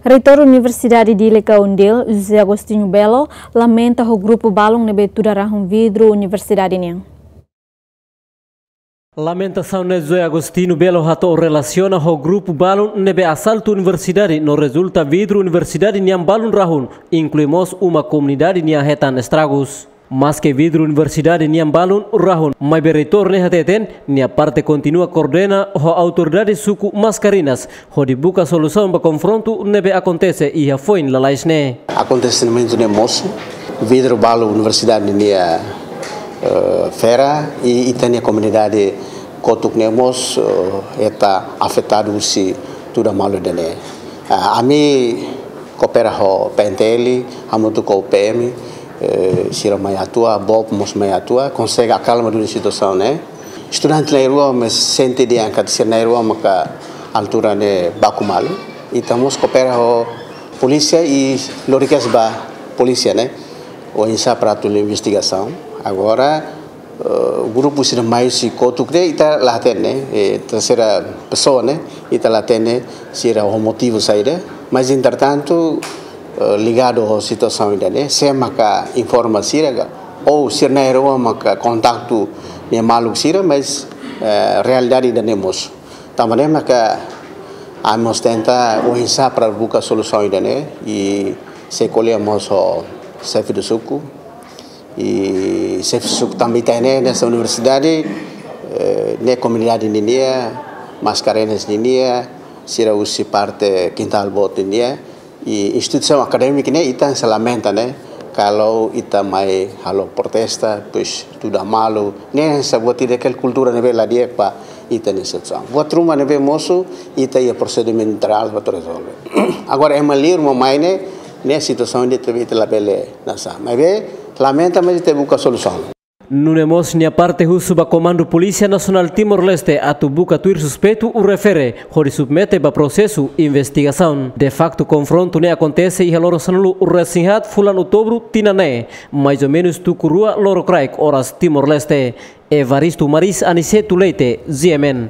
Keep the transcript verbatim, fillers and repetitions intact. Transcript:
Reitór Universidade Dili ka UNDIL, José Agostinho Belo, lamenta ho grupu balun ne'ebé tuda rahun vidru universidade nian. Lamentasaun ne'e José Agostinho Belo hato'o relasiona ho grupu balun ne'ebé asaltu universidade no rezulta vidru universidade nian balun rahun, inklui mós uma komunidade nian hetan estragus. Maske vidru universidade nian balun rahun, maibé reitór ne'e hateten, nia parte kontinua koordena ho autoridade suku Mascarenhas, hodi buka solusaun ba konfrontu ne'ebé akontese iha foin lalais ne'e. Akontesimentu ne'e mosu, vidru balu universidade nia, eh, fera, i ita-nia komunidade kotuk ne'e mós, eh, hetan afetadu husi tuda malu ida-ne'e. Ah, ami koopera ho P N T L, hamutuk ho P M, eh, sira mai atua, BOP mós mai atua, konsege akalma duni situasaun ne'e. Estudante na'in-rua mak sente dehan katak sira na'in-rua maka altura ne'e baku malu. Ita mós koopera ho polísia i lori kedas ba polísia ne'e. Oinsá para atu investigasaun. Agora, eh, grupu sira mai husi kotuk ne'e ita la hatene, eh, terseira pesoa ne'e, ita la hatene sira ho motivu saida. Mas, entretantu, eh, ligadu ho situasaun ida-ne'e, sé maka informa sira ka, ou sira na'in-rua maka kontaktu nia maluk sira, mas, eh, realidade ida-ne'e mosu. Tanba ne'e maka ami mós tenta oinsá para buka solusaun ida-ne'e, i sei ko'alia mós ho xefe do suku, i xefe do suku tanba ita ne'e, hanesan universidade, eh, ne'e komunidade ninia, Mascarenhas ninia, sira husi parte Quintal Boot ninia, i instituisaun akadémika ne'e ita sei lamenta ne'e, kalau ita mai halo protesta, depois tuda malu, ne'e hanesan buat ida, kultura ne'ebé la di'ak ba ita-nia situasaun. Buat ruma ne'ebé mosu, ita iha prosedimentu interál para atu rezolve. Agora, ema liur mak mai ne'e, ne'e situasaun ida ne'ebé ita labele hanesan. Maibé, lamenta, mas ita buka solusaun. Nune'e mós nia parte husu ba Komandu Polísia Nasionál Timor-Leste atu buka tuir suspeitu refere, hodi submete ba prosesu investigasaun. De faktu, konfrontu ne'e akontese iha loron sanulu-resin-haat fulan Outubru tinan ne'e, mais ou menus tuku rua lorokraik oras Timor-Leste. Evaristo Maris, Aniceto Leite, G M N.